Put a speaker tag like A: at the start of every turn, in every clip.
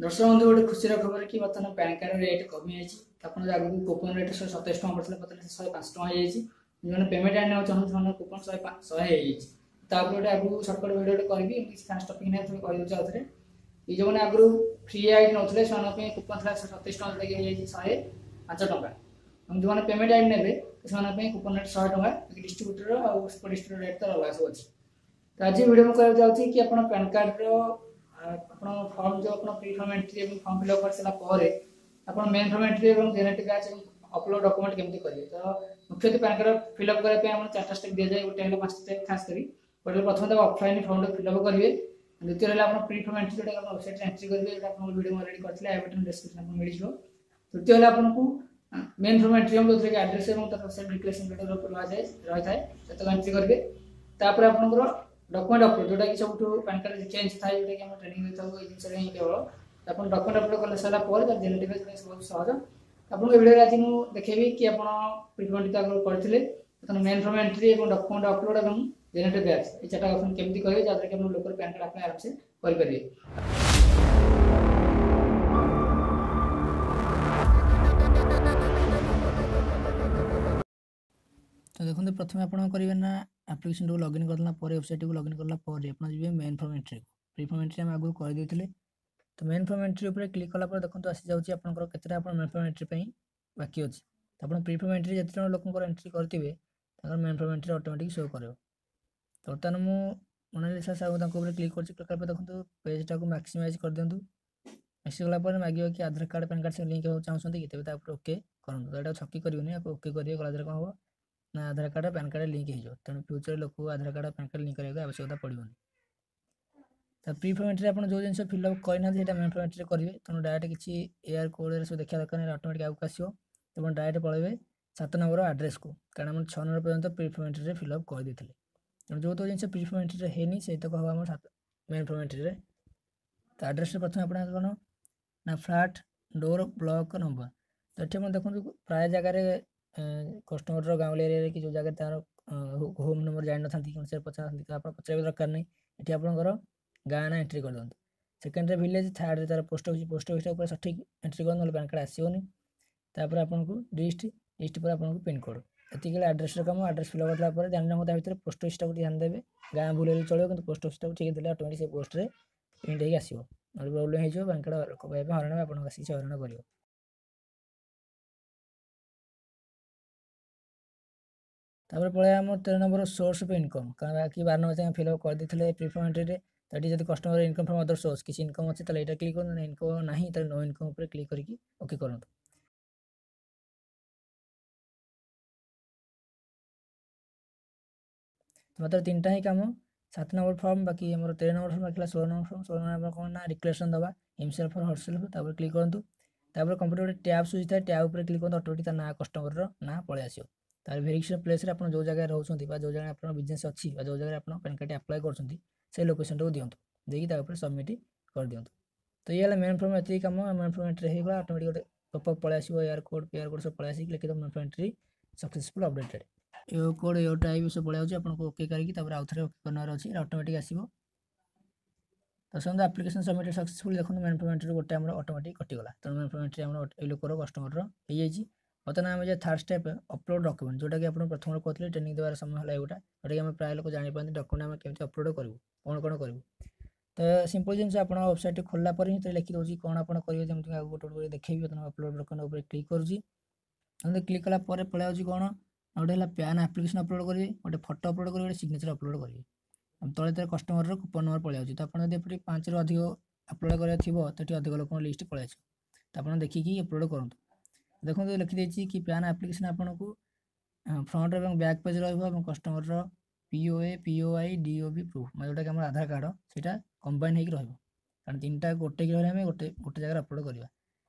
A: ଦର୍ଶକ ବନ୍ଧୁ, ଗୋଟେ ଖୁସିର ଖବର କି ବର୍ତ୍ତମାନ ପ୍ୟାନ୍ କାର୍ଡ ରେଟ୍ କମିଯାଇଛି। ଆପଣ ଯୋଉ ଆଗକୁ କୁପନ ରେଟ୍ 127 ଟଙ୍କା ପଡ଼ିଥିଲା, ବର୍ତ୍ତମାନ 105 ଟଙ୍କା ହେଇଯାଇଛି। ଯେଉଁମାନେ ପେମେଣ୍ଟ ଆଣିବାକୁ ଚାହୁଁଛନ୍ତି, ସେମାନଙ୍କ କୁପନ 100 ହେଇଯାଇଛି। ତାପରେ ଗୋଟେ ଆଗକୁ ସର୍ଟକଟ୍ ଭିଡ଼ିଓ ଗୋଟେ କରିବି। ଏମିତି କିଛି ଖାସ୍ ଟପିକ୍ ନାହିଁ, ଥରେ କହିଦେଉଛି ଆଉ ଥରେ। ଏଇ ଯେଉଁମାନେ ଆଗରୁ ଫ୍ରି ଆଇଡି ନେଉଥିଲେ, ସେମାନଙ୍କ ପାଇଁ କୁପନ ଥିଲା 127 ଟଙ୍କା, ଯେଉଁଟାକି ହେଇଯାଇଛି 105 ଟଙ୍କା। ଏବଂ ଯେଉଁମାନେ ପେମେଣ୍ଟ ଆଇଡି ନେବେ, ସେମାନଙ୍କ ପାଇଁ କୁପନ ରେଟ୍ 100 ଟଙ୍କା। ଡିଷ୍ଟ୍ରିବ୍ୟୁଟର ଆଉ ସୁପର ଡିଷ୍ଟ୍ରିବ୍ୟୁଟର ରେଟ୍ ତ ଅଲଗା ସବୁ ଅଛି। ତ ଆଜି ଭିଡ଼ିଓ ମୁଁ କହିବାକୁ ଯାଉଛି କି ଆପଣ ପ୍ୟାନ୍ କାର୍ଡ଼ର ଆପଣ ଫର୍ମ ଯେଉଁ ଆପଣ ପ୍ରି ଫର୍ମ ଏଣ୍ଟ୍ରି ଏବଂ ଫର୍ମ ଫିଲ୍ଅପ୍ କରିସାରିଲା ପରେ ଆପଣ ମେନ୍ ଫର୍ମ ଏଣ୍ଟ୍ରି ଏବଂ ଜେନେରେଟିଭ୍ ବ୍ୟାଚ୍ ଏବଂ ଅପଲୋଡ଼ ଡକ୍ୟୁମେଣ୍ଟ କେମିତି କରିବେ। ତ ମୁଖ୍ୟତଃ ପ୍ୟାନ୍ କାର୍ଡ଼ ଫିଲ୍ଅପ୍ କରିବା ପାଇଁ ଆମର ଚାରିଟା ଷ୍ଟେପ୍ ଦିଆଯାଏ, ଗୋଟେ ହେଲା ପାଞ୍ଚଟା ଷ୍ଟେପ୍ ଖାସ୍ କରି। ଗୋଟେ ହେଲା ପ୍ରଥମେ ତାକୁ ଅଫଲାଇନ୍ ଫର୍ମଟା ଫିଲ୍ଅପ୍ କରିବେ। ଦ୍ୱିତୀୟ ହେଲା ଆପଣ ପ୍ରି ଫର୍ମ ଏଣ୍ଟ୍ରି, ଯେଉଁଟା ଆପଣ ୱେବସାଇଟ୍ରେ ଏଣ୍ଟ୍ରି କରିବେ, ଯେଉଁଟା ଆପଣଙ୍କ ଭିଡ଼ିଓ ମୁଁ ଅଲରେଡ଼ି କରିଥିଲି, I button description ଆପଣଙ୍କୁ ମିଳିଯିବ। ତୃତୀୟ ହେଲା ଆପଣଙ୍କୁ ମେନ୍ ଫର୍ମ ଏଣ୍ଟ୍ରି ହେବ, ଯେଉଁଥିରେ କି ଆଡ୍ରେସ୍ ଏବଂ ତାର ସେଲ୍ଫ ଡିକ୍ଲେରେସନ୍ ଲେଟର୍ ରହିଥାଏ ରହିଥାଏ ସେତକ ଏଣ୍ଟ୍ରି କରିବେ। ତାପରେ ଆପଣଙ୍କର ଡକ୍ୟୁମେଣ୍ଟ ଅପଲୋଡ଼, ଯେଉଁଟାକି ସବୁଠୁ ପ୍ୟାନ୍ କାର୍ଡ଼ ଚେଞ୍ଜ ଥାଏ, ଯେଉଁଟାକି ଆମେ ଟ୍ରେନିଂ ଦେଇଥାଉ ଏଇ ଜିନିଷରେ ହିଁ କେବଳ। ଆପଣ ଡକ୍ୟୁମେଣ୍ଟ ଅପଲୋଡ଼ କଲେ ସାରିଲା ପରେ ତାର ଜେନେରେଟିଭ୍ ବହୁତ ସହଜ। ଆପଣଙ୍କ ଭିଡ଼ିଓରେ ଆଜି ମୁଁ ଦେଖେଇବି କି ଆପଣ ପ୍ରିଫର୍ମ ତ ଆଗରୁ କରିଥିଲେ, ବର୍ତ୍ତମାନ ମେନ୍ ଫର୍ମ ଏଣ୍ଟ୍ରି ଏବଂ ଡକ୍ୟୁମେଣ୍ଟ ଅପଲୋଡ଼ ଏବଂ ଜେନେରେଟିଭ୍ ବ୍ୟାଚ୍, ଏଇ ଚାରିଟା ଅପସନ୍ କେମିତି କରିବେ, ଯାହାଦ୍ୱାରା କି ଆପଣ ଲୋକର ପ୍ୟାନ୍ କାର୍ଡ଼ ଆପ୍ଲାଏ ଆରାମସେ କରିପାରିବେ।
B: ତ ଦେଖନ୍ତୁ, ପ୍ରଥମେ ଆପଣ କରିବେ ନା ଆପ୍ଲିକେସନଟାକୁ ଲଗ୍ଇନ୍ କରିଦେଲା ପରେ, ୱେବସାଇଟ୍କୁ ଲଗ୍ଇନ୍ କଲା ପରେ ଆପଣ ଯିବେ ମେନ୍ ଫର୍ମ ଏଣ୍ଟ୍ରିକୁ। ପ୍ରି ଫର୍ମ ଏଣ୍ଟ୍ରି ଆମେ ଆଗରୁ କରିଦେଇଥିଲେ। ତ ମେନ୍ ଫର୍ମ ଏଣ୍ଟ୍ରି ଉପରେ କ୍ଲିକ୍ କଲା ପରେ ଦେଖନ୍ତୁ, ଆସିଯାଉଛି ଆପଣଙ୍କର କେତେଟା ଆପଣ ମେନ୍ ଫର୍ମ ଏଣ୍ଟ୍ରି ପାଇଁ ବାକି ଅଛି। ତ ଆପଣ ପ୍ରି ଫର୍ମ ଏଣ୍ଟ୍ରି ଯେତେ ଜଣ ଲୋକଙ୍କର ଏଣ୍ଟ୍ରି କରିଥିବେ, ତାଙ୍କର main form entry automatic show କରିବ। ତ ବର୍ତ୍ତମାନ ମୁଁ ମୋନାଲିସା ସାହୁ, ତାଙ୍କ ଉପରେ କ୍ଲିକ୍ କରୁଛି। କ୍ଲିକ୍ କଲା ପରେ ଦେଖନ୍ତୁ, ପେଜ୍ଟାକୁ ମାକ୍ସିମାଇଜ୍ କରିଦିଅନ୍ତୁ। ମାକ୍ସି କଲା ପରେ ମାଗିବ କି ଆଧାର କାର୍ଡ଼, ପ୍ୟାନ୍ କାର୍ଡ଼ ସେ ଲିଙ୍କ୍ ହେବାକୁ ଚାହୁଁଛନ୍ତି କି? ତେବେ ତା ଉପରେ ଓକେ କରନ୍ତୁ। ତ ଏଇଟା ଛକି କରିବେନି, ଆକୁ ଓକେ କରିବେ। କଲା ଦ୍ୱାରା କ'ଣ ହେବ ନା ଆଧାର କାର୍ଡ଼, ପ୍ୟାନ୍ କାର୍ଡ଼ ଲିଙ୍କ୍ ହେଇଯିବ। ତେଣୁ ଫ୍ୟୁଚରରେ ଲୋକକୁ ଆଧାର କାର୍ଡ଼, ପ୍ୟାନ୍ କାର୍ଡ଼ ଲିଙ୍କ୍ କରିବାକୁ ଆବଶ୍ୟକତା ପଡ଼ିବନି। ତ ପ୍ରି ଫର୍ମ ଏଣ୍ଟ୍ରି ଆପଣ ଯେଉଁ ଜିନିଷ ଫିଲ୍ଅପ୍ କରିନାହାନ୍ତି, ସେଇଟା ମେନ୍ ଫର୍ମ ଏଣ୍ଟ୍ରି କରିବେ। ତେଣୁ ଡାଇରେକ୍ଟ କିଛି ଏଆର୍ କୋଡ଼୍ରେ ସବୁ ଦେଖିବା ଦରକାର ନାହିଁ, ଅଟୋମେଟିକ୍ ଆଗକୁ ଆସିବ। ଏବଂ ଡାଇରେକ୍ଟ ପଳେଇବେ 7 ନମ୍ବର ଆଡ୍ରେସ୍କୁ, କାରଣ ଆମର 6 ନମ୍ବର ପର୍ଯ୍ୟନ୍ତ ପ୍ରି ଫର୍ମ ଏଣ୍ଟ୍ରିରେ ଫିଲ୍ଅପ୍ କରିଦେଇଥିଲେ। ତେଣୁ ଯେଉଁ ଜିନିଷ ପ୍ରି ଫର୍ମ ଏଣ୍ଟ୍ରିରେ ହେଇନି, ସେଇତକ ହେବ ଆମର 7 ମେନ୍ ଫର୍ମ ଏଣ୍ଟ୍ରିରେ। ତ ଆଡ୍ରେସ୍ରେ ପ୍ରଥମେ ଆପଣ କ'ଣ ନା ଫ୍ଲାଟ୍, ଡୋର୍, ବ୍ଲକ୍ ନମ୍ବର। ତ ଏଠି ଆପଣ ଦେଖନ୍ତୁ, ପ୍ରାୟ ଜାଗାରେ କଷ୍ଟମରର ଗାଉଁଲି ଏରିଆରେ କି ଯେଉଁ ଜାଗାରେ ତାର ହୋମ୍ ନମ୍ବର ଜାଣିନଥାନ୍ତି, କୌଣସି ପଚାରନ୍ତି, ତ ଆପଣ ପଚାରିବା ଦରକାର ନାହିଁ। ଏଠି ଆପଣଙ୍କର ଗାଁ ନାଁ ଏଣ୍ଟ୍ରି କରିଦିଅନ୍ତୁ। ସେକେଣ୍ଡରେ ଭିଲେଜ୍, ଥାର୍ଡ଼ରେ ତାର ପୋଷ୍ଟ ଅଫିସ୍। ପୋଷ୍ଟ ଅଫିସଟା ଉପରେ ସଠିକ୍ ଏଣ୍ଟ୍ରି କରନ୍ତୁ, ନହେଲେ ପ୍ୟାନ୍ କାର୍ଡ଼ ଆସିବନି। ତାପରେ ଆପଣଙ୍କୁ ଡିଷ୍ଟ୍ରିକ୍ଟ, ଡିଷ୍ଟ୍ରିକ୍ଟ ପରେ ଆପଣଙ୍କୁ ପିନ୍କୋଡ଼୍। ଏତିକି ହେଲା ଆଡ୍ରେସ୍ର କାମ। ଆଡ୍ରେସ୍ ଫିଲ୍ଅପ୍ କରିଲା ପରେ ଧ୍ୟାନ ରଖନ୍ତୁ, ତା ଭିତରେ ପୋଷ୍ଟ ଅଫିସଟାକୁ ଧ୍ୟାନ ଦେବେ। ଗାଁ ଭୁଲ ହେଲେ ଚଳିବ, କିନ୍ତୁ ପୋଷ୍ଟ ଅଫିସଟାକୁ ଠିକ୍ ଦେଲେ ଅଟୋମେଟିକ୍ ସେ ପୋଷ୍ଟରେ ପ୍ରିଣ୍ଟ ହେଇକି ଆସିବ। ନହେଲେ ପ୍ରୋବ୍ଲେମ୍ ହେଇଯିବ, ପ୍ୟାନ୍ କାର୍ଡ଼ ଲୋକ ପାଇବା ପାଇଁ ହଇରାଣ, ଆପଣଙ୍କୁ ଆସିକି ସେ ହଇରାଣ କରିବ। ତାପରେ ପଳେଇବା ଆମର 13 ନମ୍ବର ସୋର୍ସ ଅଫ୍ ଇନକମ୍। କାରଣ ବାକି 12 ନମ୍ବର ଯାଏଁ ଫିଲ୍ଅପ୍ କରିଦେଇଥିଲେ ପ୍ରିଫର୍ମ ଏଣ୍ଟ୍ରିରେ। ତ ଏଠି ଯଦି customer income from other source କିଛି ଇନକମ୍ ଅଛି, ତାହେଲେ ଏଇଟା କ୍ଲିକ୍ କରନ୍ତୁ। ଇନକମ୍ ନାହିଁ, ତାହେଲେ ନୋ ଇନକମ୍ ଉପରେ କ୍ଲିକ୍ କରିକି ଓକେ କରନ୍ତୁ। ମାତ୍ର ତିନିଟା ହିଁ କାମ, 7 ନମ୍ବର ଫର୍ମ, ବାକି ଆମର 13 ନମ୍ବର ଫର୍ମ ବାକି ହେଲା, 16 ନମ୍ବର ଫର୍ମ। 16 ନମ୍ବର କ'ଣ ନା ଡିକ୍ଲାରେସନ୍ ଦେବା ହିମସେଲ୍ଫ ଅର୍ ହରସେଲ୍ଫ। ତାପରେ କ୍ଲିକ୍ କରନ୍ତୁ। ତାପରେ କମ୍ପ୍ୟୁଟର ଗୋଟେ ଟ୍ୟାବ୍ ସୁଝିଥାଏ, ଟ୍ୟାବ୍ ଉପରେ କ୍ଲିକ୍ କରନ୍ତୁ। ଅଟୋମେଟିକ୍ ତା ନାଁ, କଷ୍ଟମରର ନାଁ ପଳେଇ ଆସିବ। ତାପରେ ଭେରିଫିକେସନ୍ ପ୍ଲେସ୍ରେ ଆପଣ ଯେଉଁ ଜାଗାରେ ରହୁଛନ୍ତି ବା ଯେଉଁ ଜାଗାରେ ଆପଣଙ୍କ ବିଜନେସ୍ ଅଛି ବା ଯେଉଁ ଜାଗାରେ ଆପଣ ପ୍ୟାନ୍ କାର୍ଡ଼ଟି ଆପ୍ଲାଏ କରୁଛନ୍ତି, ସେଇ ଲୋକେସନ୍ଟାକୁ ଦିଅନ୍ତୁ। ଦେଇକି ତା ଉପରେ ସବମିଟ୍ କରିଦିଅନ୍ତୁ। ତ ଇଏ ହେଲା ମେନ୍ ଫର୍ମ, ଏତିକି କାମ। ମେନ୍ ଫର୍ମ ଏଣ୍ଟ୍ରି ହେଇଗଲା, ଅଟୋମେଟିକ୍ ଗୋଟେ ପପ୍ ପଳେଇ ଆସିବ, ଏୟାର କୋଡ଼୍, ପିଆର କୋଡ଼୍ ସବୁ ପଳେଇ ଆସିକି ଲେଖିଦେବ main form entry successful updated. ଏ କୋଡ଼୍, ଏ ଟାଇପ୍ ସବୁ ପଳେଇ ଆଉଛି। ଆପଣଙ୍କୁ ଓକେ କରିକି ତାପରେ ଆଉ ଥରେ ଓକେ କରିନେବାର ଅଛି, ଅଟୋମେଟିକ୍ ଆସିବ। ତ ସେମିତି ଆପ୍ଲିକେସନ୍ ସବମିଟେଡ୍ ସକ୍ସେସଫୁଲ୍। ଦେଖନ୍ତୁ, ମେନ୍ ଫର୍ମ ଏଣ୍ଟ୍ରି ଗୋଟେ ଆମର ଅଟୋମେଟିକ୍ କଟିଗଲା। ତେଣୁ ମେନ୍ ଫର୍ମ ଏଣ୍ଟ୍ରି ଆମର ଏଇ ଲୋକର, କଷ୍ଟମରର ହେଇଯାଇଛି। ବର୍ତ୍ତମାନ ଆମେ ଯେ ଥାର୍ଡ଼ ଷ୍ଟେପ୍, ଅପଲୋଡ଼ ଡକ୍ୟୁମେଣ୍ଟ, ଯେଉଁଟାକି ଆପଣ ପ୍ରଥମରୁ କହୁଥିଲେ, ଟ୍ରେନିଂ ଦେବାର ସମୟ ହେଲା ଏଇଟା, ଯେଉଁଟାକି ଆମେ ପ୍ରାୟ ଲୋକ ଜାଣିପାରନ୍ତି ଡକ୍ୟୁମେଣ୍ଟ ଆମେ କେମିତି ଅପଲୋଡ଼ କରିବୁ, କ'ଣ କ'ଣ କରିବୁ। ତ ସିମ୍ପଲ୍ ଜିନିଷ, ଆପଣ ୱେବସାଇଟ୍ ଖୋଲିଲା ପରେ ହିଁ ଲେଖିଦେଉଛି କ'ଣ ଆପଣ କରିବେ। ଯେମିତି ଆଗକୁ ଗୋଟେ ଗୋଟେ ଦେଖେଇବି। ବର୍ତ୍ତମାନ ଅପଲୋଡ଼ ଡକ୍ୟୁମେଣ୍ଟ ଉପରେ କ୍ଲିକ୍ କରୁଛି। ଏମିତି କ୍ଲିକ୍ କଲା ପରେ ପଳେଇ ଆଉଛି କ'ଣ, ଗୋଟେ ହେଲା ପ୍ୟାନ୍ ଆପ୍ଲିକେସନ୍ ଅପଲୋଡ଼ କରିବେ, ଗୋଟେ ଫଟୋ ଅପଲୋଡ଼ କରିବେ, ଗୋଟେ ସିଗ୍ନେଚର୍ ଅପଲୋଡ଼ କରିବେ। ତଳେ ତଳେ କଷ୍ଟମରର କୁପନ୍ ନମ୍ବର ପଳେଇ ଆଉଛି। ତ ଆପଣ ଯଦି ଏପଟେ 5ରୁ ଅଧିକ ଅପଲୋଡ଼ କରିବାର ଥିବ, ତ ଏଠି ଅଧିକ ଲୋକଙ୍କ ଲିଷ୍ଟ ପଳେଇ ଆସିବ। ତ ଆପଣ ଦେଖିକି ଅପଲୋଡ଼ କରନ୍ତୁ। ଦେଖନ୍ତୁ, ଲେଖିଦେଇଛି କି ପ୍ୟାନ୍ ଆପ୍ଲିକେସନ୍ ଆପଣଙ୍କୁ ଫ୍ରଣ୍ଟ ଏବଂ ବ୍ୟାକ୍ ପେଜ୍ ରହିବ ଏବଂ କଷ୍ଟମରର POA, POI, DOB proof, ମାନେ ଯେଉଁଟାକି ଆମର ଆଧାର କାର୍ଡ଼, ସେଇଟା କମ୍ବାଇନ୍ ହେଇକି ରହିବ। କାରଣ ତିନିଟା ଗୋଟେ ରହିଲେ ଆମେ ଗୋଟେ ଗୋଟେ ଜାଗାରେ ଅପଲୋଡ଼ କରିବା।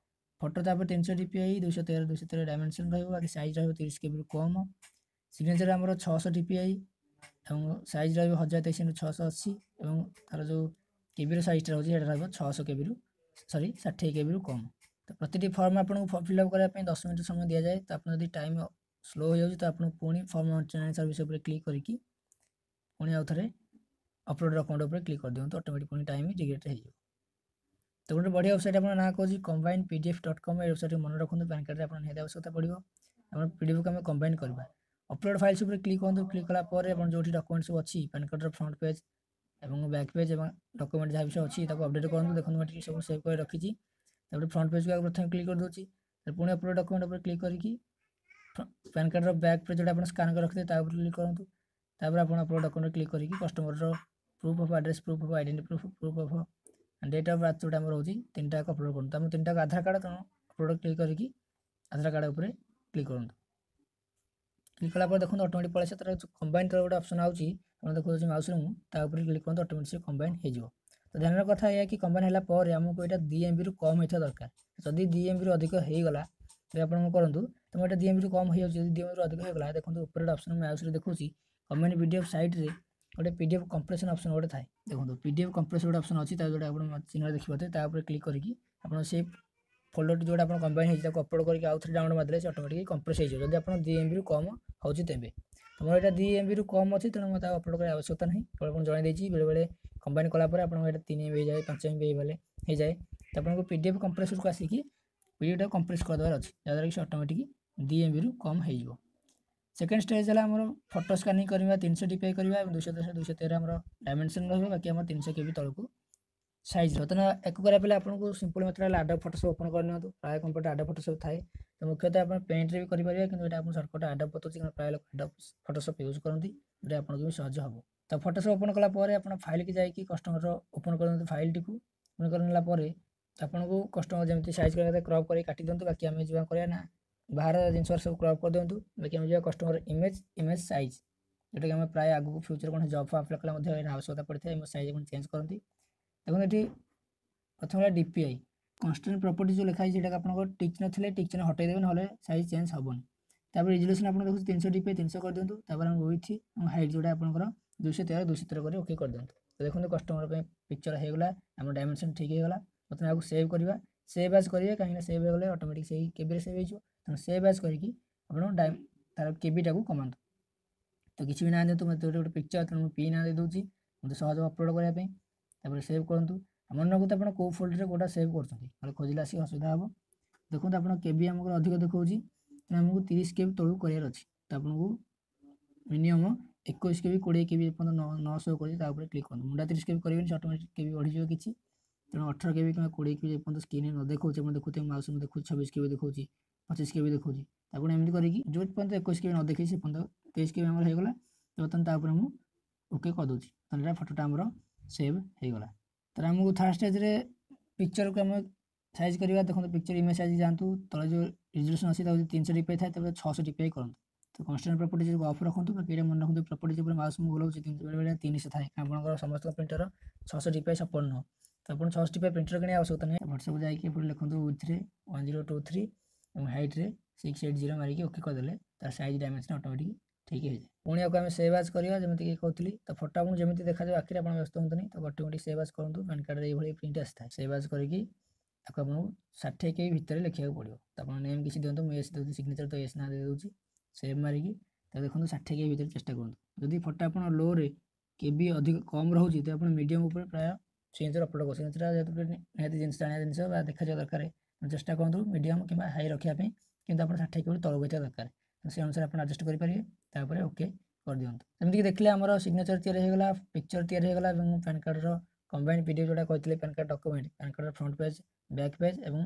B: ଫଟୋ ତାପରେ 300 DPI, 213 213 dimension ରହିବ। ବାକି ସାଇଜ୍ ରହିବ 30 କେବିରୁ କମ୍। ସିଗ୍ନେଚର୍ ଆମର 600 DPI ଏବଂ ସାଇଜ୍ ରହିବ 1023 ଇଣ୍ଟୁ 680 ଏବଂ ତା'ର ଯେଉଁ କେବିର ସାଇଜ୍ଟା ରହୁଛି, ସେଇଟା ରହିବ 600 କେବିରୁ, ସରି, 60 କେବିରୁ କମ୍। ତ ପ୍ରତିଟି ଫର୍ମ ଆପଣଙ୍କୁ ଫିଲ୍ଅପ୍ କରିବା ପାଇଁ 10 ମିନିଟ୍ ସମୟ ଦିଆଯାଏ। ତ ଆପଣ ଯଦି ଟାଇମ୍ ସ୍ଲୋ ହୋଇଯାଉଛି, ତ ଆପଣ ପୁଣି ଫର୍ମ ସର୍ଭିସ୍ ଉପରେ କ୍ଲିକ୍ କରିକି ପୁଣି ଆଉ ଥରେ ଅପଲୋଡ଼ ଡକ୍ୟୁମେଣ୍ଟ ଉପରେ କ୍ଲିକ୍ କରିଦିଅନ୍ତୁ। ଅଟୋମେଟିକ୍ ପୁଣି ଟାଇମ୍ ଜେନେରେଟ୍ ହେଇଯିବ। ତ ଗୋଟେ ବଢ଼ିଆ ୱେବସାଇଟ୍ ଆପଣଙ୍କ ନାଁ କହୁଛି combinepdf.com। ଏ ୱେବସାଇଟ୍ ମନେ ରଖନ୍ତୁ, ପ୍ୟାନ୍ କାର୍ଡ଼ରେ ଆପଣ ନିହାତି ଆବଶ୍ୟକତା ପଡ଼ିବ। ଆପଣ ପିଡିଏଫ୍କୁ ଆମେ କମ୍ବାଇନ୍ କରିବା। ଅପଲୋଡ଼ ଫାଇଲ୍ସ ଉପରେ କ୍ଲିକ୍ କରନ୍ତୁ। କ୍ଲିକ୍ କଲା ପରେ ଆପଣ ଯେଉଁଠି ଡକ୍ୟୁମେଣ୍ଟ ସବୁ ଅଛି, ପ୍ୟାନ୍ କାର୍ଡ଼ର ଫ୍ରଣ୍ଟ ପେଜ୍ ଏବଂ ବ୍ୟାକ୍ ପେଜ୍ ଏବଂ ଡକ୍ୟୁମେଣ୍ଟ ଯାହା ବି ସବୁ ଅଛି, ତାକୁ ଅପଡ଼େଟ୍ କରନ୍ତୁ। ଦେଖନ୍ତୁ, ମୁଁ ଏଠି ସବୁ ସେଭ୍ କରି ରଖିଛି। ତାପରେ ଫ୍ରଣ୍ଟ ପେଜ୍କୁ ଆଗ ପ୍ରଥମେ କ୍ଲିକ୍ କରିଦେଉଛି। ପୁଣି ଅପଲୋଡ଼ ଡକ୍ୟୁମେଣ୍ଟ ଉପରେ କ୍ଲିକ୍ କରିକି ପ୍ୟାନ୍ କାର୍ଡ଼ର ବ୍ୟାକ୍ ପେଜ୍ ଯେଉଁଟା ଆପଣ ସ୍କାନ୍ କରି ରଖିଥିବେ, ତା ଉପରେ କ୍ଲିକ୍ କରନ୍ତୁ। ତାପରେ ଆପଣ ଅପଲୋଡ଼ ଡକ୍ୟୁମେଣ୍ଟ କ୍ଲିକ୍ କରିକି କଷ୍ଟମରର proof of address, proof of identity proof, proof of date of birth ଯେଉଁଟା ଆମର ରହୁଛି, ତିନିଟା ଅପଲୋଡ଼ କରନ୍ତୁ। ଆମ ତିନିଟାକ ଆଧାର କାର୍ଡ଼, ତେଣୁ ଅପଲୋଡ଼ କ୍ଲିକ୍ କରିକି ଆଧାର କାର୍ଡ଼ ଉପରେ କ୍ଲିକ୍ କରନ୍ତୁ। କ୍ଲିକ୍ କଲା ପରେ ଦେଖନ୍ତୁ, ଅଟୋମେଟିକ୍ ପଳେଇ ଆସିବ। ତାର କମ୍ବାଇନ୍ ତଳେ ଗୋଟେ ଅପସନ୍ ଆଉଛି, ଆପଣ ଦେଖାଉଛି ମାଉସରେ ମୁଁ, ତା ଉପରେ କ୍ଲିକ୍ କରନ୍ତୁ, ଅଟୋମେଟିକ୍ ସେ କମ୍ବାଇନ୍ ହେଇଯିବ। ତ ଧ୍ୟାନର କଥା ଏଇଆ କି କମ୍ବାଇନ୍ ହେଲା ପରେ ଆମକୁ ଏଇଟା 2 ଏମ୍ବିରୁ କମ୍ ହେଇଥିବା ଦରକାର। ଯଦି 2 ଏମ୍ବିରୁ ଅଧିକ ହେଇଗଲା, ତେବେ ଆପଣ କ'ଣ କରନ୍ତୁ? ତ ମୁଁ ଏଇଟା 2 ଏମ୍ବିରୁ କମ୍ ହେଇଯାଉଛି। ଯଦି 2 ଏମ୍ବିରୁ ଅଧିକ ହେଇଗଲା, ଦେଖନ୍ତୁ, ଉପରେ ଗୋଟେ ଅପସନ୍ ମାଉସରେ ଦେଖାଉଛି। କମ୍ବାଇନ୍ ପିଡିଏଫ୍ ସାଇଟ୍ରେ ଗୋଟେ ପିଡିଏଫ୍ କମ୍ପ୍ରେସନ୍ ଅପସନ୍ ଗୋଟେ ଥାଏ। ଦେଖନ୍ତୁ, ପିଡିଏଫ୍ କମ୍ପ୍ରେସନ୍ ଗୋଟେ ଅପସନ୍ ଅଛି, ତା ଯେଉଁଟା ଆପଣ ଚିହ୍ନରେ ଦେଖିପାରୁଥିବେ। ତା ଉପରେ କ୍ଲିକ୍ କରିକି ଆପଣ ସେଇ ଫୋଲ୍ଡରଟି ଯେଉଁଟା ଆପଣ କମ୍ବାଇନ୍ ହେଇଛି, ତାକୁ ଅପଲୋଡ଼ କରିକି ଆଉ ଥରେ ଡାଉନଲୋଡ଼ ମାରିଦେଲେ ସେ ଅଟୋମେଟିକ୍ କମ୍ପ୍ରେସ୍ ହେଇଯିବ, ଯଦି ଆପଣ 2 ଏମ୍ବିରୁ କମ୍ ହେଉଛି। ତେବେ ତୁମର ଏଇଟା 2 ଏମ୍ବିରୁ କମ୍ ଅଛି, ତେଣୁ ମୋତେ ଆଉ ଅପଲୋଡ଼ କରିବା ଆବଶ୍ୟକତା ନାହିଁ। କେବଳ ଆପଣ ଜଣାଇ ଦେଇଛି, ବେଳେବେଳେ କମ୍ବାଇନ୍ କଲା ପରେ ଆପଣଙ୍କ ଏଇଟା 3 ଏମ୍ବି ହେଇଯାଏ, 5 ଏମ୍ବି ହେଇଗଲେ ହେଇଯାଏ। ତ ଆପଣଙ୍କୁ ପିଡିଏଫ୍ କମ୍ପ୍ରେସରକୁ ଆସିକି ପିଡିଏଫ୍ଟାକୁ କମ୍ପ୍ରେସ୍ କରିଦେବାର ଅଛି, ଯାହାଦ୍ୱାରା କି ସେ ଅଟୋମେଟିକ୍ 2 ଏମ୍ବିରୁ କମ୍ ହେଇଯିବ। ସେକେଣ୍ଡ ଷ୍ଟେଜ୍ ହେଲା ଆମର ଫଟୋ ସ୍କାନିଂ କରିବା, 300 ଡିପିଆଇ କରିବା ଏବଂ 210 213 ଆମର ଡାଇମେନସନ୍ ରହିବ। ବାକି ଆମର 300 କେବି ତଳକୁ ସାଇଜ୍ ରହିବ। ତେଣୁ ଏକୁ କରିବା ପାଇଁ ଆପଣଙ୍କୁ ସିମ୍ପଲ୍ ମେଥଡ଼ ହେଲା ଆଡୋବ୍ ଫଟୋସପ୍ ଓପନ୍ କରିନିଅନ୍ତୁ। ପ୍ରାୟ କମ୍ପ୍ୟୁଟର ଆଡୋବ୍ ଫଟୋସପ୍ ଥାଏ। ତ ମୁଖ୍ୟତଃ ଆପଣ ପେଣ୍ଟରେ ବି କରିପାରିବେ, କିନ୍ତୁ ଏଇଟା ଆପଣ ସର୍ଟକଟ୍ ଆଡୋବ୍ ବତାଉଛି, କାରଣ ପ୍ରାୟ ଲୋକ ଆଡୋବ୍ ଫଟୋସପ୍ ୟୁଜ୍ କରନ୍ତି, ଯେଉଁଟା ଆପଣଙ୍କୁ ବି ସହଜ ହେବ। ତ ଫଟୋସପ୍ ଓପନ୍ କଲା ପରେ ଆପଣ ଫାଇଲ୍କି ଯାଇକି କଷ୍ଟମରର ଓପନ୍ କରନ୍ତୁ। ଫାଇଲ୍ଟିକୁ ଓପନ୍ କରିନେଲା ପରେ ଆପଣଙ୍କୁ କଷ୍ଟମର ଯେମିତି ସାଇଜ୍ କରିବା କଥା କ୍ରପ୍ କରି କାଟି ଦିଅନ୍ତୁ। ବାକି ଆମେ ଯିବା କରିବା ନା ବାହାର ଜିନିଷ ସବୁ କ୍ରପ୍ କରିଦିଅନ୍ତୁ। ବାକି ଆମେ ଯିବା କଷ୍ଟମର ଇମେଜ୍, ଇମେଜ୍ ସାଇଜ୍, ଯେଉଁଟାକି ଆମେ ପ୍ରାୟ ଆଗକୁ ଫ୍ୟୁଚର୍ କୌଣସି ଜବ୍ ଆପ୍ଲାଏ କଲେ ମଧ୍ୟ ଏହାର ଆବଶ୍ୟକତା ପଡ଼ିଥାଏ। ଇମେଜ୍ ସାଇଜ୍ ଆପଣ ଚେଞ୍ଜ କରନ୍ତି। ଦେଖନ୍ତୁ, ଏଠି ପ୍ରଥମେ ହେଲା ଡିପିଆଇ କନଷ୍ଟାଣ୍ଟ ପ୍ରପର୍ଟି ଯେଉଁ ଲେଖା ହେଇଛି, ସେଇଟାକୁ ଆପଣଙ୍କ ଟିକ୍ ଚିହ୍ନ ଥିଲେ ଟିକ୍ ଚିହ୍ନ ହଟେଇ ଦେବେ, ନହେଲେ ସାଇଜ୍ ଚେଞ୍ଜ ହେବନି। ତାପରେ ରିଜଲ୍ୟୁସନ୍ ଆପଣ ଦେଖୁଛି 300 ଡିପିଆଇ, 300 କରିଦିଅନ୍ତୁ। ତାପରେ ଆମେ ୱିଡ୍ଥ ଏବଂ ହାଇଟ୍ ଯେଉଁଟା ଆପଣଙ୍କର 213 213 କରି ଓକେ କରିଦିଅନ୍ତୁ। ତ ଦେଖନ୍ତୁ, କଷ୍ଟମର ପାଇଁ ପିକ୍ଚର ହେଇଗଲା, ଆମ ଡାଇମେନସନ୍ ଠିକ୍ ହେଇଗଲା। ବର୍ତ୍ତମାନ ଆକୁ ସେଭ୍ କରିବା। ସେଭ୍ ଆଜ୍ କରିବେ, କାହିଁକିନା ସେଭ୍ ହେଇଗଲେ ଅଟୋମେଟିକ୍ ସେଇ କେବିରେ ସେଭ୍ ହେଇଯିବ। ତେଣୁ ସେଭ୍ ଆଜ୍ କରିକି ଆପଣ ତାର କେବିଟାକୁ କମାନ୍ତୁ। ତ କିଛି ବି ନାଁ ଦିଅନ୍ତୁ। ମୋତେ ଗୋଟେ ପିକ୍ଚର, ତେଣୁ ମୁଁ ପି ନାଁ ଦେଇଦେଉଛି ମୋତେ ସହଜ ଅପଲୋଡ଼ କରିବା ପାଇଁ। ତାପରେ ସେଭ୍ କରନ୍ତୁ। ଆଉ ମନେ ରଖନ୍ତୁ, ଆପଣ କେଉଁ ଫୋଲ୍ଡରରେ କେଉଁଟା ସେଭ୍ କରୁଛନ୍ତି, ନହେଲେ ଖୋଜିଲେ ଆସିକି ଅସୁବିଧା ହେବ। ଦେଖନ୍ତୁ, ଆପଣ କେବି ଆମକୁ ଅଧିକ ଦେଖାଉଛି, ତେଣୁ ଆମକୁ 30 କେବି ତଳକୁ କରିବାର ଅଛି। ତ ଆପଣଙ୍କୁ ମିନିମମ୍ 21 କେବି, 20 କେବି ପର୍ଯ୍ୟନ୍ତ 900 କରିଛି, ତା ଉପରେ କ୍ଲିକ୍ କରନ୍ତୁ। ମୁଣ୍ଡା 30 କେବି କରିବେନି, ସେ ଅଟୋମେଟିକ୍ କେବି ବଢ଼ିଯିବ କିଛି। ତେଣୁ 18 କେବି କିମ୍ବା 20 କେବି ଯେପର୍ଯ୍ୟନ୍ତ ସ୍କ୍ରିନ୍ରେ ନ ଦେଖାଉଛି, ଆପଣ ଦେଖୁଥିବେ ମାଉସ୍ ମୁଁ ଦେଖୁଛି, 26 କେବି ଦେଖାଉଛି, 25 କେବି ଦେଖାଉଛି। ଆପଣ ଏମିତି କରିକି ଯେଉଁ ପର୍ଯ୍ୟନ୍ତ 21 କେବି ନ ଦେଖେଇ ସେ ପର୍ଯ୍ୟନ୍ତ। 23 କେବି ଆମର ହେଇଗଲା। ତ ବର୍ତ୍ତମାନ ତା ଉପରେ ମୁଁ ଓକେ କରିଦେଉଛି। ତାହେଲେ ଏଇଟା ଫଟୋଟା ଆମର ସେଭ୍ ହେଇଗଲା। ତାହେଲେ ଆମକୁ ଥାର୍ଡ଼ ଷ୍ଟେଜ୍ରେ ପିକ୍ଚରକୁ ଆମେ ସାଇଜ୍ କରିବା। ଦେଖନ୍ତୁ, ପିକ୍ଚର ଇମେଜ୍ ସାଇଜ୍ ଯାଆନ୍ତୁ। ତଳେ ଯେଉଁ ରିଜଲ୍ୟୁସନ୍ ଅଛି, ତାକୁ ଯଦି 300 ଡିପିଆଇ ଥାଏ, ତେବେ 600 ଡିପିଆଇ କରନ୍ତୁ। ତ କନଷ୍ଟାଣ୍ଟ ପ୍ରପର୍ଟିଜ୍ ଅଫ୍ ରଖନ୍ତୁ। ବାକି ଏଇଟା ମନେ ରଖନ୍ତୁ, ପ୍ରପର୍ଟିଜ୍ ଉପରେ ମାଉସ୍ ମୁଁ ବୁଲାଉଛି, ବେଳେବେଳେ 300 ଥାଏ। ଆପଣଙ୍କର ସମସ୍ତଙ୍କ ପ୍ରିଣ୍ଟର 600 ଡିପିଆଇ ସପୋର୍ଟ ନୁହଁ। ତ ଆପଣ 600 ଡିପିଆଇ ପ୍ରିଣ୍ଟର କିଣିବା ଆବଶ୍ୟକତା ନାହିଁ। ହ୍ୱାଟ୍ସଆପ୍ ଯାଇକି ଏପଟେ ଲେଖନ୍ତୁ ୱିଡ୍ଥରେ 1023 ଏବଂ ହାଇଟ୍ରେ 680 ମାରିକି ଓକେ କରିଦେଲେ ତାର ସାଇଜ୍ ଡାଇମେନସନ୍ ଅଟୋମେଟିକ୍ ଠିକ୍ ହେଇଯାଏ। ପୁଣି ଆକୁ ଆମେ ସେଭ୍ ଆଜ୍ କରିବା, ଯେମିତିକି କହୁଥିଲି। ତ ଫଟୋ ଆପଣଙ୍କୁ ଯେମିତି ଦେଖାଯିବ ଆଖିରେ, ଆପଣ ବ୍ୟସ୍ତ ହୁଅନ୍ତୁନି। ତ ଅଟୋମେଟିକ୍ ସେଭ୍ ଆଜ୍ କରନ୍ତୁ। ପ୍ୟାନ୍ କାର୍ଡ଼ରେ ଏଇଭଳି ପ୍ରିଣ୍ଟ ଆସିଥାଏ। ସେଭ୍ ଆଜ୍ କରିକି ତାକୁ ଆପଣଙ୍କୁ 60 କେବି ଭିତରେ ଲେଖିବାକୁ ପଡ଼ିବ। ତ ଆପଣ ନେମ୍ କିଛି ଦିଅନ୍ତୁ, ମୁଁ ଏସ୍ ଦେଉଛି ସିଗ୍ନେଚର, ତ ଏସ୍ ନାଁ ଦେଇଦେଉଛି। ସେଭ୍ ମାରିକି ତ ଦେଖନ୍ତୁ, 60 କେବି ଭିତରେ ଚେଷ୍ଟା କରନ୍ତୁ। ଯଦି ଫଟୋ ଆପଣ ଲୋରେ କେବି ଅଧିକ କମ୍ ରହୁଛି, ତ ଆପଣ ମିଡ଼ିୟମ୍ ଉପରେ ପ୍ରାୟ ସିଗ୍ନେଚର ଅପଲୋଡ଼ କରୁ। ସିଗ୍ନେଚର ଯେହେତୁ ନିହାତି ଜିନିଷ ଜାଣିବା ଜିନିଷ ବା ଦେଖାଯିବା ଦରକାର, ଚେଷ୍ଟା କରନ୍ତୁ ମିଡ଼ିୟମ୍ କିମ୍ବା ହାଇ ରଖିବା ପାଇଁ। କିନ୍ତୁ ଆପଣ 60 କେବି ତଳକୁ ହେଇଥିବା ଦରକାର। ସେ ଅନୁସାରେ ଆପଣ ଆଡ଼ଜଷ୍ଟ କରିପାରିବେ। ତାପରେ ଓକେ କରିଦିଅନ୍ତୁ। ଯେମିତିକି ଦେଖିଲେ, ଆମର ସିଗ୍ନେଚର ତିଆରି ହେଇଗଲା, ପିକ୍ଚର ତିଆରି ହେଇଗଲା ଏବଂ ପ୍ୟାନ୍ କାର୍ଡ଼ର କମ୍ବାଇନ୍ ପିଡିଏଫ୍ ଯେଉଁଟା କହିଥିଲେ, ପ୍ୟାନ୍ କାର୍ଡ଼ ଡକ୍ୟୁମେଣ୍ଟ, ପ୍ୟାନ୍ କାର୍ଡ଼ର ଫ୍ରଣ୍ଟ ପେଜ୍, ବ୍ୟାକ୍ ପେଜ୍ ଏବଂ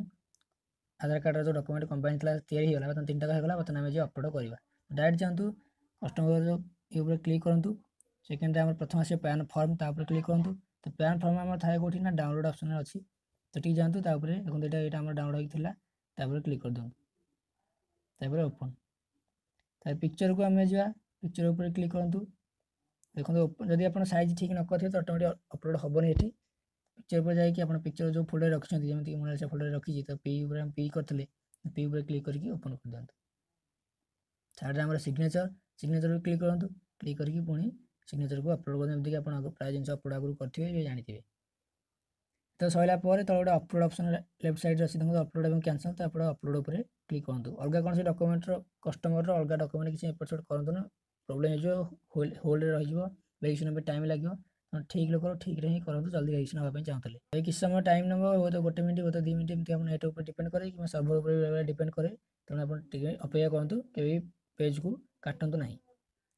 B: ଆଧାର କାର୍ଡ଼ର ଯେଉଁ ଡକ୍ୟୁମେଣ୍ଟ କମ୍ବାଇନ୍ ଥିଲା, ତିଆରି ହେଇଗଲା। ବର୍ତ୍ତମାନ ତିନିଟା ହେଇଗଲା। ବର୍ତ୍ତମାନ ଆମେ ଯିବା ଅପଲୋଡ଼ କରିବା। ଡାଇରେକ୍ଟ ଯାଆନ୍ତୁ, କଷ୍ଟମର ଯେଉଁ ଉପରେ କ୍ଲିକ୍ କରନ୍ତୁ। ସେକେଣ୍ଡରେ ଆମର ପ୍ରଥମ ଆସିବ ପ୍ୟାନ୍ ଫର୍ମ, ତା ଉପରେ କ୍ଲିକ୍ କରନ୍ତୁ। ତ ପ୍ୟାନ୍ ଫର୍ମ ଆମର ଥାଏ କେଉଁଠି ନା ଡାଉନଲୋଡ଼ ଅପସନ୍ରେ ଅଛି। ସେଠିକି ଯାଆନ୍ତୁ। ତା ଉପରେ ଦେଖନ୍ତୁ, ଏଇଟା ଆମର ଡାଉନଲୋଡ଼ ହେଇକି ଥିଲା। ତାପରେ କ୍ଲିକ୍ କରିଦିଅନ୍ତୁ। ତାପରେ ଓପନ୍। ତାପରେ ପିକ୍ଚରକୁ ଆମେ ଯିବା। ପିକ୍ଚର ଉପରେ କ୍ଲିକ୍ କରନ୍ତୁ। ଦେଖନ୍ତୁ, ଯଦି ଆପଣ ସାଇଜ୍ ଠିକ୍ ନ କରିଥିବେ, ତ ଅଟୋମେଟିକ୍ ଅପଲୋଡ଼ ହେବନି ଏଠି। ପିକ୍ଚର ଉପରେ ଯାଇକି ଆପଣ ପିକ୍ଚର ଯେଉଁ ଫୋଲ୍ଡରରେ ରଖିଛନ୍ତି, ଯେମିତିକି ମୁଁ ସେ ଫୋଲ୍ଡରରେ ରଖିଛି, ତ ପି ଉପରେ ଆମେ ପି କରିଥିଲେ, ପି ଉପରେ କ୍ଲିକ୍ କରିକି ଓପନ୍ କରିଦିଅନ୍ତୁ। ଥାର୍ଡ଼ରେ ଆମର ସିଗ୍ନେଚର, ସିଗ୍ନେଚର କ୍ଲିକ୍ କରନ୍ତୁ। କ୍ଲିକ୍ କରିକି ପୁଣି ସିଗ୍ନେଚରକୁ ଅପଲୋଡ଼ କରନ୍ତୁ, ଯେମିତିକି ଆପଣ ପ୍ରାୟ ଜିନିଷ ଅପଲୋଡ଼ ଆଗରୁ କରିଥିବେ, ଜାଣିଥିବେ। ତ ସରିଲା ପରେ ତଳେ ଗୋଟେ ଅପଲୋଡ଼ ଅପସନ୍ ଲେଫ୍ଟ ସାଇଡ଼୍ରେ ଅଛି। ଦେଖନ୍ତୁ, ଅପଲୋଡ଼ ଏବଂ କ୍ୟାନସଲ୍। ତ ଆପଣ ଅପଲୋଡ଼ ଉପରେ କ୍ଲିକ୍ କରନ୍ତୁ। ଅଲଗା କୌଣସି ଡକ୍ୟୁମେଣ୍ଟର, କଷ୍ଟମରର ଅଲଗା ଡକ୍ୟୁମେଣ୍ଟ କିଛି ଏପଟ ସେପଟ କରନ୍ତୁ ନା, ପ୍ରୋବ୍ଲେମ୍ ହେଇଯିବ, ହୋଲ୍ଡରେ ରହିଯିବ, ଭେରିଫିକେସନ୍ ପାଇଁ ଟାଇମ୍ ଲାଗିବ। ତେଣୁ ଠିକ୍ ଲୋକର ଠିକ୍ରେ ହିଁ କରନ୍ତୁ, ଜଲ୍ଦି ଭେରିଫିକେସନ୍ ହେବା ପାଇଁ ଚାହୁଁଥିଲେ। ଏ କିଛି ସମୟ ଟାଇମ୍ ନେବ, ହୁଏତ 1 ମିନିଟ୍, ହୁଏତ 2 ମିନିଟ୍, ଏମିତି ଆପଣ ନେଟ୍ ଉପରେ ଡିପେଣ୍ଡ କରେ କିମ୍ବା ସର୍ଭର ଉପରେ ବେଳେବେଳେ ଡିପେଣ୍ଡ କରେ। ତେଣୁ ଆପଣ ଟିକେ ଅପେକ୍ଷା କରନ୍ତୁ, କେବେ ବି ପେଜ୍କୁ କାଟନ୍ତୁ ନାହିଁ।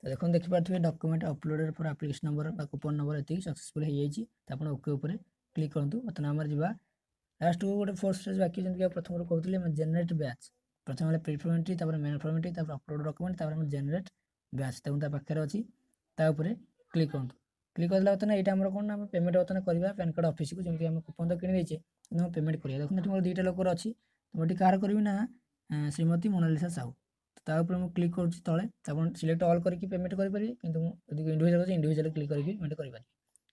B: ତ ଦେଖନ୍ତୁ, ଦେଖିପାରୁଥିବେ document uploaded for application number ବା କୁପନ୍ ନମ୍ବର ଏତିକି ସକ୍ସେସଫୁଲ୍ ହେଇଯାଇଛି। ତ ଆପଣ ଓକେ ଉପରେ କ୍ଲିକ୍ କରନ୍ତୁ। ବର୍ତ୍ତମାନ ଆମର ଯିବା ଲାଷ୍ଟକୁ ଗୋଟେ ଫୋର୍ଥ ଷ୍ଟେଜ୍ ବାକି। ଯେମିତି ପ୍ରଥମରୁ କହୁଥିଲି, ଆମେ ଜେନେରେଟ୍ ବ୍ୟାଚ୍। ପ୍ରଥମେ ହେଲା ପ୍ରି ଫର୍ମ ଏଣ୍ଟ୍ରି, ତାପରେ ମେନ୍ ଫର୍ମ ଏଣ୍ଟ୍ରି, ତାପରେ ଅପଲୋଡ଼ ଡକ୍ୟୁମେଣ୍ଟ, ତାପରେ ଆମର ଜେନେରେଟ୍ ବ୍ୟାଚ୍। ତେଣୁ ତା ପାଖରେ ଅଛି, ତା ଉପରେ କ୍ଲିକ୍ କରନ୍ତୁ। କ୍ଲିକ୍ କରିଦେଲା ବର୍ତ୍ତମାନ ଏଇଟା ଆମର କ'ଣ ନା ଆମେ ପେମେଣ୍ଟ ବର୍ତ୍ତମାନ କରିବା ପ୍ୟାନ୍ କାର୍ଡ଼ ଅଫିସକୁ। ଯେମିତି ଆମେ କୁପନ୍ ତ କିଣି ଦେଇଛେ, କିନ୍ତୁ ଆମେ ପେମେଣ୍ଟ କରିବା। ଦେଖନ୍ତୁ, ଏଠି ମୋର ଦୁଇଟା ଲୋକର ଅଛି। ମୁଁ ଏଠି କାହାର କରିବି ନା ଶ୍ରୀମତୀ ମୋନାଲିସା ସାହୁ। ତା ଉପରେ ମୁଁ କ୍ଲିକ୍ କରୁଛି ତଳେ। ଆପଣ ସିଲେକ୍ଟ ଅଲ୍ କରିକି ପେମେଣ୍ଟ କରିପାରିବେ, କିନ୍ତୁ ମୁଁ ଯଦି ଇଣ୍ଡିଭିଜୁଆଲ୍ ଅଛି, ଇଣ୍ଡିଭିଜୁଆଲ୍ କ୍ଲିକ୍ କରିକି ପେମେଣ୍ଟ କରିପାରିବି।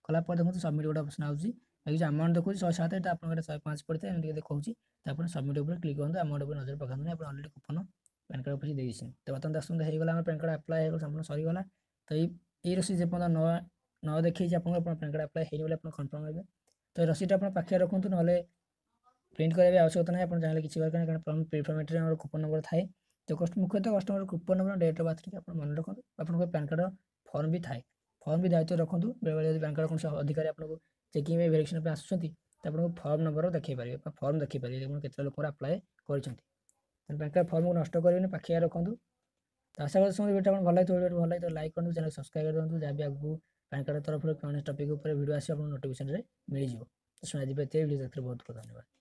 B: କଲା ପରେ ଦେଖନ୍ତୁ, ସବମିଟ୍ ଗୋଟେ ଅପସନ୍ ଆସୁଛି। ବାକି ଯେଉଁ ଆମାଉଣ୍ଟ ଦେଖାଉଛି 107, ଏଇଟା ଆପଣଙ୍କର 105 ପଡ଼ିଥାଏ, ଏମିତି ଦେଖାଉଛି। ତାପରେ ସବମିଟ୍ ଉପରେ କ୍ଲିକ୍ କରନ୍ତୁ। ଆମାଉଣ୍ଟ ଉପରେ ନଜର ପକାନ୍ତୁନି, ଆପଣ already coupon PAN card office ଦେଇଦେଇଛନ୍ତି। ତ ବର୍ତ୍ତମାନ ଆସନ୍ତୁ, ହେଇଗଲା ଆମର ପ୍ୟାନ୍ କାର୍ଡ଼ ଆପ୍ଲାଏ ହେଇଗଲା, ସମ୍ପୂର୍ଣ୍ଣ ସରିଗଲା। ତ ଏଇ ରସିଦ ଯେପର୍ଯ୍ୟନ୍ତ ନ ଦେଖେଇଛି ଆପଣଙ୍କୁ, ଆପଣ ପ୍ୟାନ୍ କାର୍ଡ଼ ଆପ୍ଲାଏ ହେଇନି ବୋଲି ଆପଣ କନଫର୍ମ ହେବେ। ତ ଏ ରସିଦଟା ଆପଣ ପାଖରେ ରଖନ୍ତୁ, ନହେଲେ ପ୍ରିଣ୍ଟ କରିବା ବି ଆବଶ୍ୟକତା ନାହିଁ। ଆପଣ ଚାହିଁଲେ କିଛି ଦରକାର ନାହିଁ, କାରଣ ପ୍ରି ଆମର କୁପନ୍ ନମ୍ବର ଥାଏ। ତ ମୁଖ୍ୟତଃ customer coupon number, date of birth ଟିକେ ଆପଣ ମନେ ରଖନ୍ତୁ। ଆପଣଙ୍କ ପ୍ୟାନ୍ କାର୍ଡ଼ ଫର୍ମ ବି ଥାଏ, ଫର୍ମ ବି ଦାୟିତ୍ୱ ରଖନ୍ତୁ। ବେଳେବେଳେ ଯଦି ପ୍ୟାନ୍ କାର୍ଡ଼ କୌଣସି ଅଧିକାରୀ ଆପଣଙ୍କୁ ଚେକିଂ ପାଇଁ, ଭେରିଫିକେସନ୍ ପାଇଁ ଆସୁଛନ୍ତି, ତ ଆପଣଙ୍କୁ ଫର୍ମ ନମ୍ବର ଦେଖାଇ ପାରିବେ ବା ଫର୍ମ ଦେଖାଇ ପାରିବେ ଆପଣ କେତେ ଲୋକର ଆପ୍ଲାଏ କରିଛନ୍ତି। ତେଣୁ ପ୍ୟାନ୍ କାର୍ଡ଼ ଫର୍ମକୁ ନଷ୍ଟ କରିବେନି, ପାଖିଆ ରଖନ୍ତୁ। ତ ଆଶା କରୁଛି ଭିଡ଼ିଓ ଆପଣ ଭଲ ଲାଗିଥିବ। ଭିଡ଼ିଓ ଭଲ ଲାଗିଥିବ, ଲାଇକ୍ କରନ୍ତୁ, ଚ୍ୟାନେଲ୍ ସବସ୍କ୍ରାଇବ୍ କରିଦିଅନ୍ତୁ। ଯାହା ବି ଆଗକୁ ପ୍ୟାନ୍ କାର୍ଡ଼ ତରଫରୁ କୌଣସି ଟପିକ୍ ଉପରେ ଭିଡ଼ିଓ ଆସିବ, ଆପଣଙ୍କୁ ନୋଟିଫିକେସନ୍ରେ ମିଳିଯିବ। ତ ଶୁଣାଯିବ ଏତେ ଭିଡ଼ିଓ ଦେଖିଲେ ବହୁତ ବହୁତ ଧନ୍ୟବାଦ।